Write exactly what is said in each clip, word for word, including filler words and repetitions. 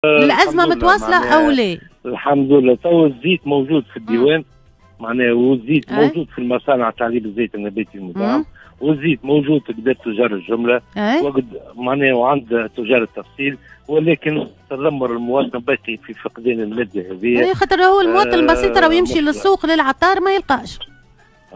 الازمة متواصلة او لا؟ الحمد لله تو الزيت موجود في الديوان، معناها والزيت موجود في المصانع تعليب الزيت النباتي المدعم، والزيت موجود في قدر تجار الجملة وقد معناها وعند تجار التفصيل، ولكن تذمر المواطن باقي في فقدان المادة هذه. يعني خاطر هو المواطن البسيط راه يمشي للسوق للعطار ما يلقاش.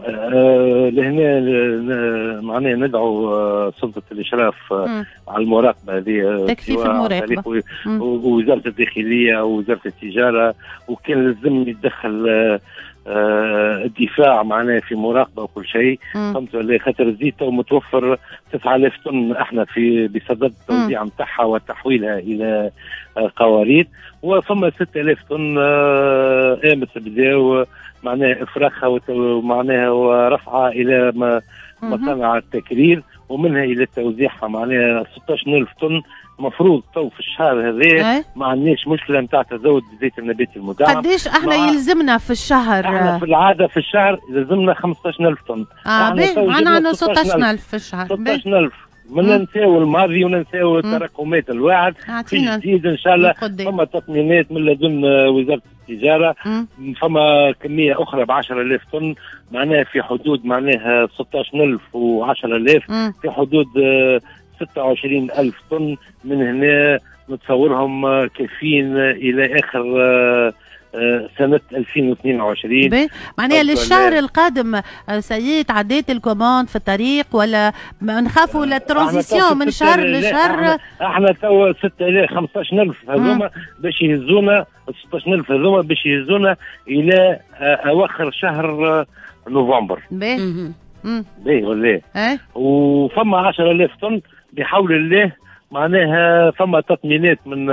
آه لهنا معناها ندعو آه سلطة الاشراف آه على المراقبة هذه، تكثيف المراقبة، ووزارة الداخلية ووزارة التجارة، وكان لازم يتدخل آه آه الدفاع معناها في مراقبة وكل شيء، فهمت ولا؟ خاطر الزيت تو متوفر تسعة آلاف طن، احنا في بصدد التوزيع نتاعها وتحويلها الى آه قوارير، وفما ستة آلاف طن آه امس بداو معناها افراخها ومعناها ورفعها الى مصانع التكرير ومنها الى توزيعها، معناها ستة عشر ألف طن مفروض تو في الشهر هذا ما عندناش مشكلة نتاع تزود بالزيت النباتي المدعم. قداش احنا مع... يلزمنا في الشهر؟ احنا في العادة في الشهر يلزمنا خمسة عشر ألف طن. اه باهي، عندنا ستة عشر ألف في الشهر. ستة عشر ألف ما ننساو الماضي وننساو التراكمات الواعد. في جديد ان شاء الله فما تطمينات من لدن وزارة التجارة، فما كمية اخرى ب عشرة آلاف طن، معناها في حدود معناها ستة عشر ألف و عشرة آلاف، في حدود ستة وعشرين ألف طن من هنا نتصورهم كافيين الى اخر سنة ألفين واثنين وعشرين. معناها للشهر القادم سيد عديت ال commande في الطريق ولا نخافوا la transition من شهر لشهر؟ احنا توا ستة آلاف خمسة عشر ألف هذوما باش يهزونا، ستة عشر ألف هذوما باش يهزونا الى اواخر شهر نوفمبر. باهي باهي ولا؟ وفما عشرة آلاف طن بحول الله، معناها فما تطمينات من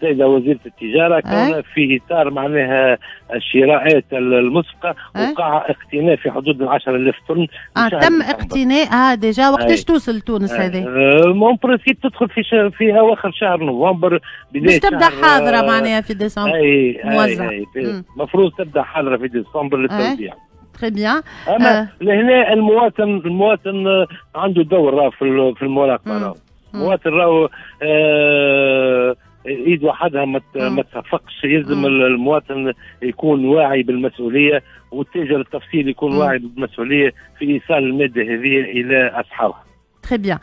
السيدة وزيرة التجارة كون في إطار معناها الشراءات المسبقة وقع اقتناء في حدود عشرة آلاف طن. آه تم اقتناءها déjà. وقتاش توصل تونس هذه؟ en principe تدخل في شهر في أواخر شهر نوفمبر، باش تبدا حاضرة معناها في ديسمبر. أي أي المفروض تبدا حاضرة في ديسمبر للتوزيع. très bien. أما لهنا المواطن المواطن عنده دور راه في في المراقبة، المواطن راهو آه ايد وحدها ما تصفقش، يلزم المواطن يكون واعي بالمسؤولية، والتاجر التفصيل يكون واعي بالمسؤولية في ايصال المادة هذه الى اصحابها. très bien.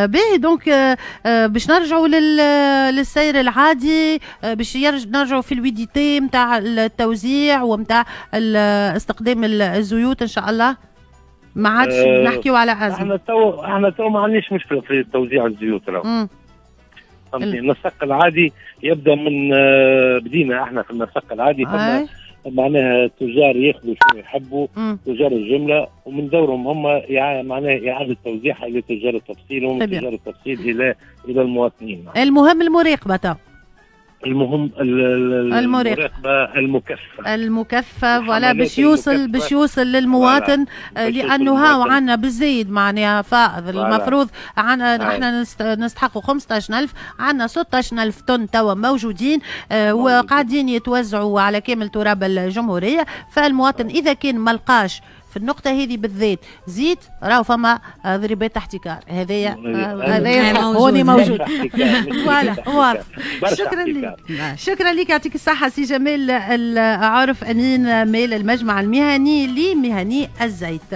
باهي donc باش نرجعوا للسير العادي، باش نرجعوا في ال fluidité نتاع التوزيع ونتاع استخدام الزيوت ان شاء الله، ما عادش أه نحكيو على ازمة. احنا تو احنا تو ما عندناش مشكلة في توزيع الزيوت راهو. فهمتني؟ النسق العادي يبدا من بدينا احنا في النسق العادي، فما معناها التجار ياخذوا شنو يحبوا، تجار الجملة، ومن دورهم هم معناها اعاده توزيعها الى تجار التفصيل، ومن تجار التفصيل الى الى المواطنين. المهم المراقبة تو. المهم المراقبة المكثفة المكثفة voilà باش يوصل باش يوصل للمواطن، لانه هاو عندنا بالزايد معناها فائض. المفروض عندنا احنا نستحقوا خمسة عشر ألف، عندنا ستة عشر ألف طن توا موجودين آه وقاعدين يتوزعوا على كامل تراب الجمهورية. فالمواطن اذا كان ما لقاش في النقطة هذه بالذات زيت، راهو فما ضريبات احتكار، هذايا هذايا هوني موجود. voilà واضح. شكرا لك، شكرا لك، يعطيك الصحة سي جمال العارف، أمين مال المجمع المهني لمهني الزيت.